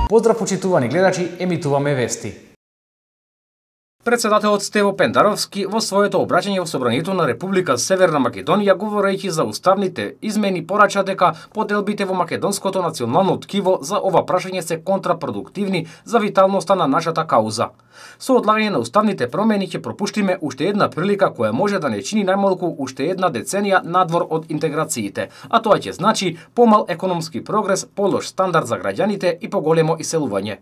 Поздрав почитувани гледачи, емитуваме вести. Председателот Стево Пендаровски во своето обраќање во Собранието на Република Северна Македонија, говорејќи за уставните измени, порача дека поделбите во македонското национално ткиво за ова прашање се контрапродуктивни за виталноста на нашата кауза. Со одлагање на уставните промени ќе пропуштиме уште една прилика која може да не чини најмалку уште една деценија надвор од интеграциите, а тоа ќе значи помал економски прогрес, полош стандард за граѓаните и поголемо иселување.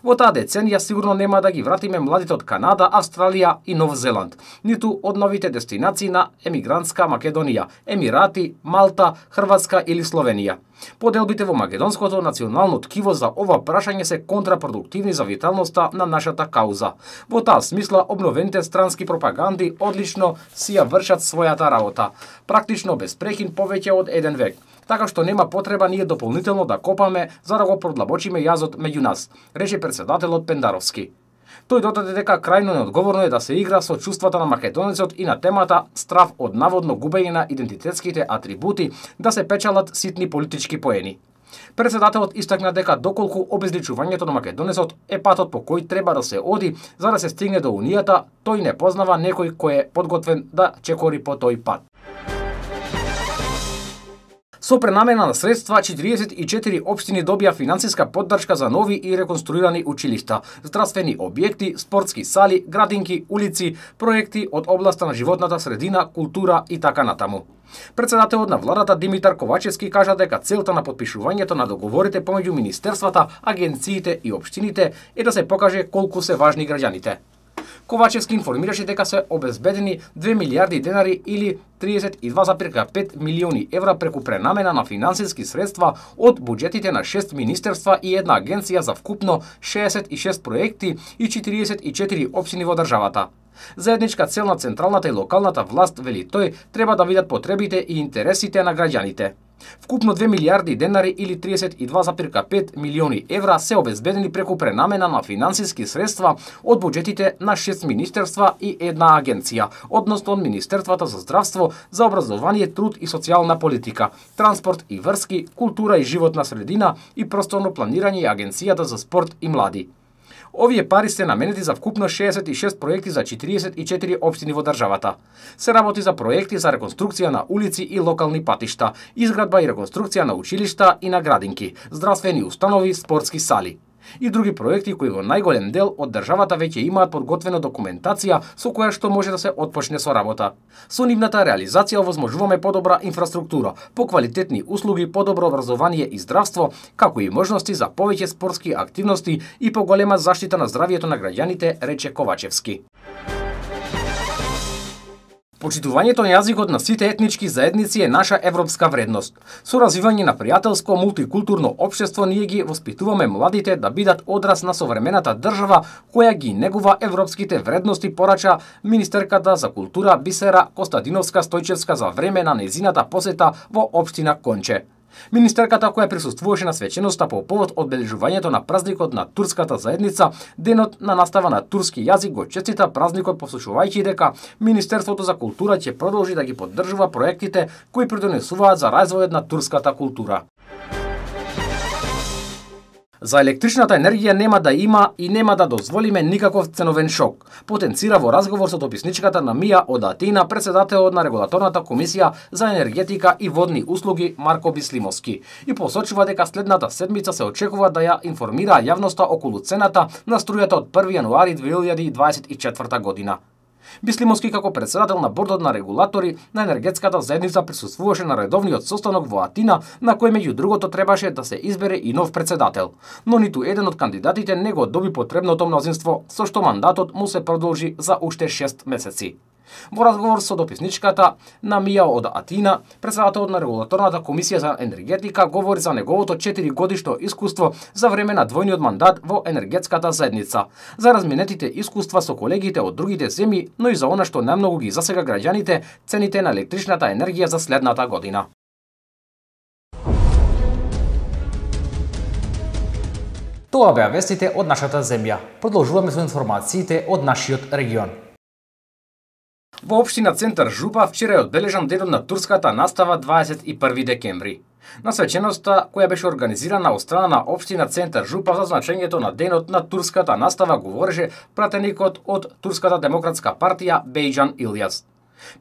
Во таа деценија сигурно нема да ги вратиме младите од Канада, Австралија и Нов Зеланд, ниту од новите дестинации на емигрантска Македонија, Емирати, Малта, Хрватска или Словенија. Поделбите во македонското национално ткиво за ова прашање се контрапродуктивни за виталноста на нашата кауза. Во таа смисла, обновените странски пропаганди одлично си ја вршат својата работа, практично без прекин повеќе од еден век. Така што нема потреба ние дополнително да копаме за да го продлабочиме јазот меѓу нас, рече председателот Пендаровски. Тој додаде дека крајно неодговорно е да се игра со чувствата на македонецот и на темата страв од наводно губење на идентитетските атрибути да се печалат ситни политички поени. Председателот истакна дека доколку обезличувањето на македонецот е патот по кој треба да се оди за да се стигне до унијата, тој не познава некој кој е подготвен да чекори по тој пат. Со пренамена на средства, 44 општини добија финансиска поддршка за нови и реконструирани училишта, здравствени објекти, спортски сали, градинки, улици, проекти од областа на животната средина, култура и така натаму. Председателот на владата Димитар Ковачевски кажа дека целта на подпишувањето на договорите помеѓу министерствата, агенциите и општините е да се покаже колку се важни граѓаните. Ковачевски информираше дека се обезбедени 2 милиарди денари или 32,5 милиони евра преку пренамена на финансиски средства од буџетите на 6 министерства и една агенција за вкупно 66 проекти и 44 општини во државата. Заедничка цел на централната и локалната власт, вели тој, треба да видат потребите и интересите на граѓаните. Вкупно 2 милиарди денари или 32,5 милиони евра се обезбедени преку пренамена на финансиски средства од буџетите на 6 министерства и една агенција, односно од Министерството за здравство, за образование, труд и социјална политика, транспорт и врски, култура и животна средина и просторно планирање и Агенцијата за спорт и млади. Овие пари се наменети за вкупно 66 проекти за 44 општини во државата. Се работи за проекти за реконструкција на улици и локални патишта, изградба и реконструкција на училишта и на градинки, здравствени установи, спортски сали и други проекти кои во најголем дел од државата веќе имаат подготвена документација со која што може да се отпочне со работа. Со нивната реализација овозможуваме подобра инфраструктура, поквалитетни услуги, подобро образование и здравство, како и можности за повеќе спортски активности и поголема заштита на здравието на граѓаните, рече Ковачевски. Почитувањето на јазикот на сите етнички заедници е наша европска вредност. Со развивање на пријателско мултикултурно општество ние ги воспитуваме младите да бидат одраз на современата држава која ги негува европските вредности, порача министерката за култура Бисера Костадиновска Стојчевска за време на нејзината посета во општина Конче. Министерката која присуствуваше на свеченоста по повод одбележувањето на празникот на турската заедница, денот на настава на турски јазик, го честита празникот посочувајќи дека Министерството за култура ќе продолжи да ги поддржува проектите кои придонесуваат за развојот на турската култура. За електричната енергија нема да има и нема да дозволиме никаков ценовен шок, потенцира во разговор со дописничката на МИА од Атина председателот на Регулаторната комисија за енергетика и водни услуги Марко Бислимовски и посочува дека следната седмица се очекува да ја информира јавноста околу цената на струјата од 1 јануари 2024 година. Бислимовски како председател на бордот на регулатори на енергетската заедница присуствуваше на редовниот состанок во Атина, на кој меѓу другото требаше да се избере и нов председател, но ниту еден од кандидатите не го доби потребното мнозинство, со што мандатот му се продолжи за уште 6 месеци. Во разговор со дописничката на МИА од Атина, председателот на Регулаторната комисија за енергетика говори за неговото 4-годишно искуство за време на двојниот мандат во енергетската заедница, за разменетите искуства со колегите од другите земји, но и за она што најмногу ги засега граѓаните, цените на електричната енергија за следната година. Тоа беа вестите од нашата земја. Продолжуваме со информациите од нашиот регион. Во општина Центар Жупа вчера е одбележан денот на турската настава 21 декември. На свеченоста, која беше организирана од страна на општина Центар Жупа за значењето на денот на турската настава, говореше пратеникот од Турската демократска партија Бејџан Илјас.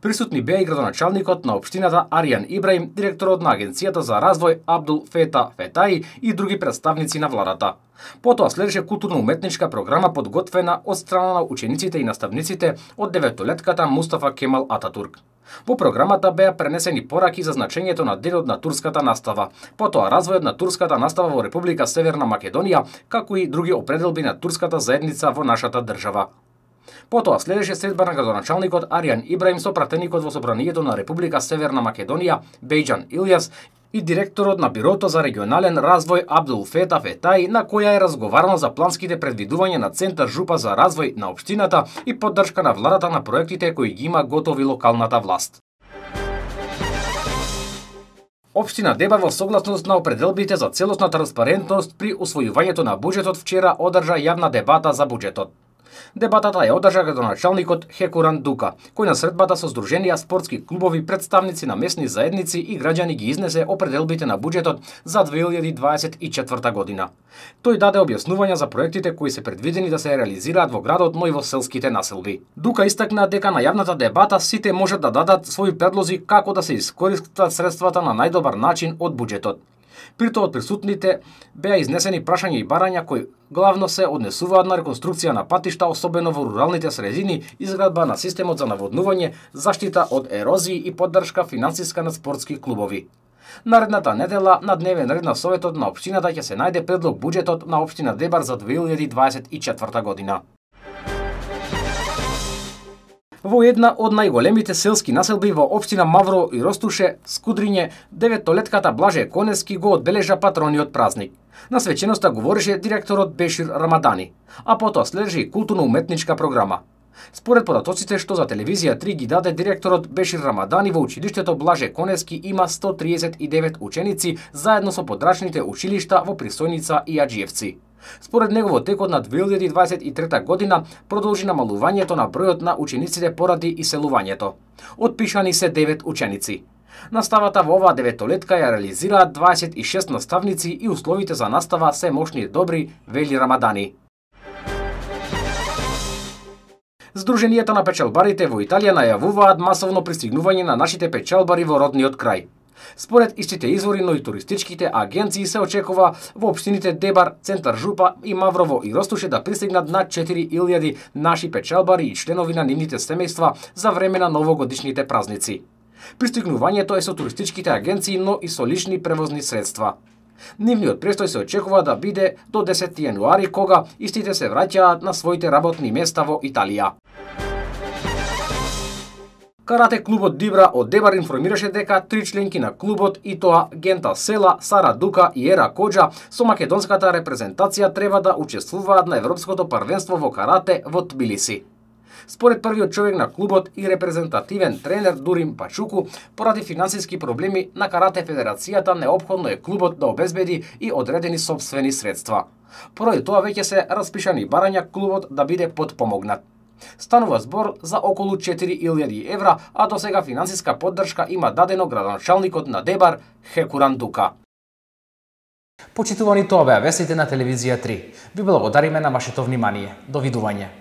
Присутни беа и градоначалникот на општината Аријан Ибраим, директорот на Агенцијата за развој Абдул Фета Фетаи и други представници на владата. Потоа следеше културно-уметничка програма подготвена од страна на учениците и наставниците од 9-летката Мустафа Кемал Ататурк. Во програмата беа пренесени пораки за значењето на денот на турската настава, потоа развојот на турската настава во Република Северна Македонија, како и други определби на турската заедница во нашата држава. Потоа следеше средба на градоначалникот Аријан Ибраим со пратеникот во Собранието на Република Северна Македонија Бејџан Илјас и директорот на Бирото за регионален развој Абдул Фета Фетаи, на која е разговарано за планските предвидувања на Центар Жупа за развој на општината и поддршка на владата на проектите кои ги има готови локалната власт. Општина Дебар во согласност на определбите за целосна транспарентност при усвојувањето на буџетот вчера одржа јавна дебата за буџетот. Дебатата ја одржа градоначалникот Хекуран Дука, кој на средбата со здруженија, спортски клубови, представници на месни заедници и граѓани ги изнесе определбите на буџетот за 2024 година. Тој даде објаснувања за проектите кои се предвидени да се реализираат во градот, но и во селските населби. Дука истакна дека на јавната дебата сите можат да дадат своји предлози како да се искористат средствата на најдобар начин од буџетот. При тоа од присутните беа изнесени прашања и барања кои главно се однесуваат на реконструкција на патишта, особено во руралните средини, изградба на системот за наводнување, заштита од ерозии и поддршка финансиска на спортски клубови. Наредната недела на дневен ред на Советот на општината ќе се најде предлог буџетот на општина Дебар за 2024 година. Во една од најголемите селски населби во општина Маврово и Ростуше, Скудриње, 9-летката Блаже Конески го одбележа патрониот празник. На свеченоста говореше директорот Бешир Рамадани, а потоа следеше и културно-уметничка програма. Според податоците што за телевизија 3 ги даде директорот Бешир Рамадани, во училиштето Блаже Конески има 139 ученици заедно со подрачните училишта во Пристојница и Аџиевци. Според него во текот на 2023 година продолжи намалувањето на бројот на учениците поради иселувањето. Отпишани се 9 ученици. Наставата во оваа 9-летка ја реализираат 26 наставници и условите за настава се мошни и добри, вели Рамадани. Сдруженијата на печалбарите во Италија најавуваат масовно пристигнување на нашите печалбари во родниот крај. Според истите извори, но и туристичките агенции се очекува во општините Дебар, Центар Жупа и Маврово и Ростуше да пристигнат над 4000 наши печалбари и членови на нивните семејства за време на новогодишните празници. Пристигнувањето е со туристичките агенции, но и со лични превозни средства. Нивниот престој се очекува да биде до 10 јануари, кога истите се враќаат на своите работни места во Италија. Карате клубот Дибра од Дебар информираше дека 3 членки на клубот, и тоа Гента Села, Сара Дука и Ера Коџа, со македонската репрезентација треба да учествуваат на Европското првенство во карате во Тбилиси. Според првиот човек на клубот и репрезентативен тренер Дурим Пачуку, поради финансиски проблеми на Карате Федерацијата неопходно е клубот да обезбеди и одредени сопствени средства. Поради тоа веќе се распишани барања клубот да биде подпомогнат. Станува збор за околу 4000 евра, а до сега финансиска поддршка има дадено градоначалникот на Дебар Хекуран Дука. Почитувани, тоа беа вестите на телевизија 3. Ви благодариме на вашето внимание. До видување.